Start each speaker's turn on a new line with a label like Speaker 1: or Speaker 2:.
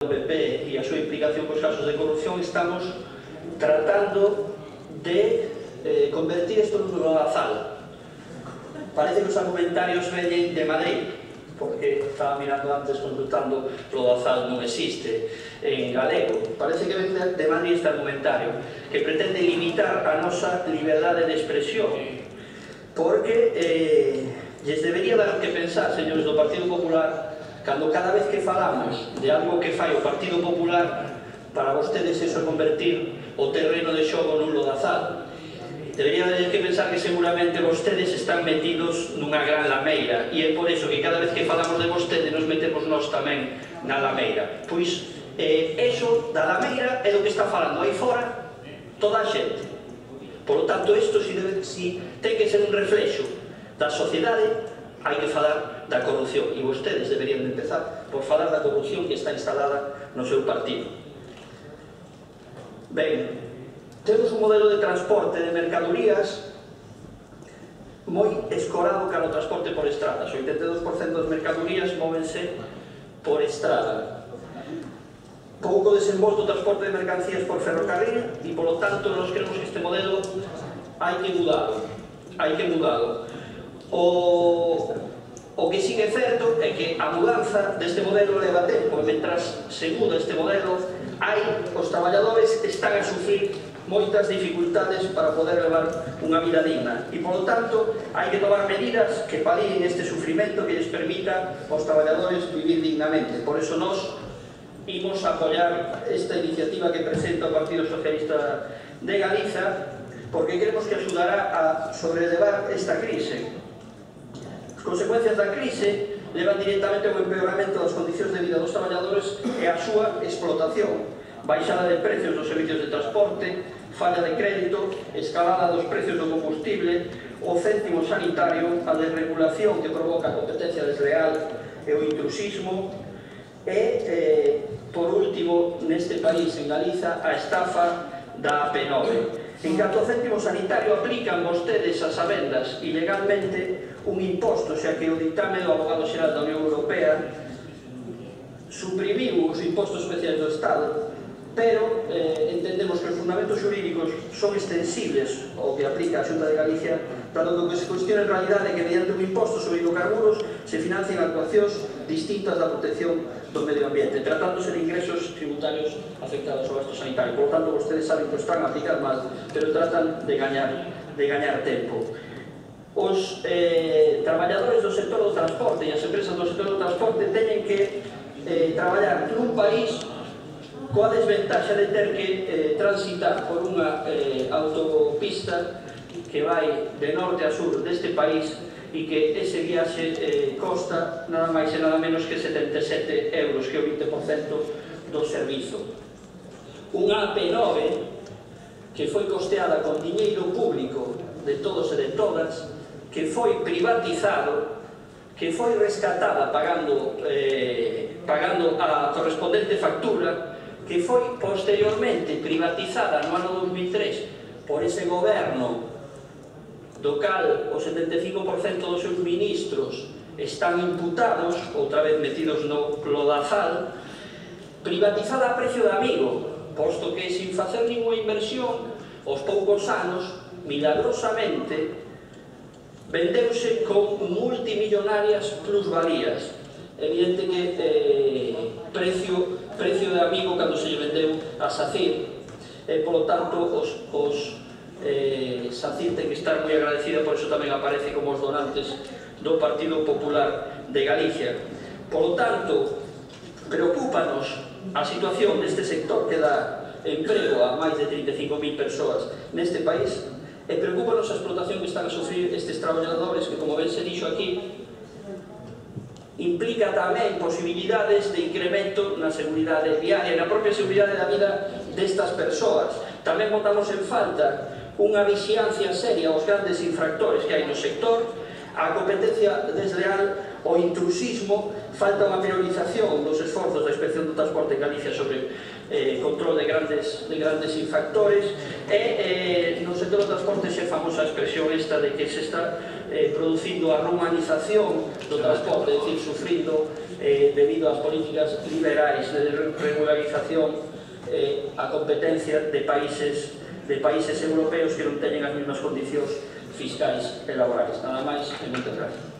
Speaker 1: do PP e a súa implicación cos casos de corrupción, estamos tratando de convertir isto nun lodazal. Parece que os argumentarios veñen de Madrid, porque estaba mirando antes, consultando, lodazal non existe en galego. Parece que ven de Madrid este argumentario, que pretende limitar a nosa liberdade de expresión, porque lles debería dar que pensar, señores do Partido Popular, cando cada vez que falamos de algo que fai o Partido Popular, para vostedes eso é convertir o terreno de xogo nun lodazal. Deberían de que pensar que seguramente vostedes están metidos nunha gran lameira, e é por eso que cada vez que falamos de vostedes nos metemos nós tamén na lameira. Pois eso da lameira é do que está falando aí fora toda a xente. Por lo tanto, isto si ten que ser un reflexo da sociedade, hai que falar da corrupción, e vostedes deberían de empezar por falar da corrupción que está instalada no seu partido. Ben, temos un modelo de transporte de mercadorías moi escorado cara ao transporte por estradas. O 82% das mercadorías móvense por estrada. Pouco desenvolto o transporte de mercancías por ferrocarril e, polo tanto, nós creemos que este modelo hai que mudalo. Hai que mudalo. O que sí que é certo é que a mudanza deste modelo leva tempo, e mentras se muda este modelo, os traballadores están a sufrir moitas dificultades para poder levar unha vida digna, e polo tanto hai que tomar medidas que palíen este sufrimento, que lles permita aos traballadores vivir dignamente. Por eso nós imos apoiar esta iniciativa que presenta o Partido Socialista de Galiza, porque creemos que axudará a sobrelevar esta crise. As consecuencias da crise levan directamente ao empeoramento das condicións de vida dos traballadores e a súa explotación. Baixada de precios dos servicios de transporte, falla de crédito, escalada dos precios do combustible, o céntimo sanitario, a desregulación que provoca a competencia desleal e o intrusismo, e, por último, neste país, en Galiza, a estafa da AP9. En canto ao céntimo sanitario, aplican vostedes as sabendas ilegalmente un imposto, xa que o dictame do Abogado Xeral da Unión Europea suprimiu os impostos especiais do Estado, pero entendemos que os fundamentos xurídicos son extensibles ao que aplica a Xunta de Galicia, dado que se cuestiona en realidade que mediante un imposto sobre hidrocarburos se financian actuacións distintas da protección do medio ambiente, tratándose de ingresos tributarios afectados ao gasto sanitario. Por lo tanto, vostedes saben que o están a aplicar mal, pero tratan de gañar tempo. Os traballadores do sector do transporte e as empresas do sector do transporte teñen que traballar nun país coa desventaxa de ter que transitar por unha autopista que vai de norte a sur deste país, e que ese viaxe costa nada máis e nada menos que 77 euros, que é o 20% do servizo. Unha AP9 que foi costeada con diñeiro público de todos e de todas, que foi privatizado, que foi rescatada pagando a correspondente factura, que foi posteriormente privatizada no ano 2003 por ese goberno do cal o 75% dos seus ministros están imputados, outra vez metidos no lodazal, privatizada a precio de amigo, posto que sin facer ninguna inversión, aos poucos anos, milagrosamente, vendeuse con multimillonarias plusvalías. Evidente que precio de amigo cando se lle vendeu a SACIR, e polo tanto os SACIR ten que estar moi agradecida, por iso tamén aparece como os donantes do Partido Popular de Galicia. Por lo tanto, preocúpanos a situación deste sector que dá emprego a máis de 35.000 persoas neste país, e preocúpanos a explotación que están a sufrir estes traballadores, que, como ben se dixo aquí, implica tamén posibilidades de incremento na seguridade viaria, na propia seguridade da vida destas persoas. Tamén botamos en falta unha vixiancia seria aos grandes infractores que hai no sector, a competencia desleal, o intrusismo, falta unha priorización dos esforzos da Inspección do Transporte en Galicia sobre control de grandes infractores, e no sector do transporte se famosa expresión esta de que se está producindo a romanización do transporte, é dicir, sufrindo debido ás políticas liberais de regularización a competencia de países europeos que non teñen as mesmas condicións fiscais e laborais. Nada máis e moitas gracias.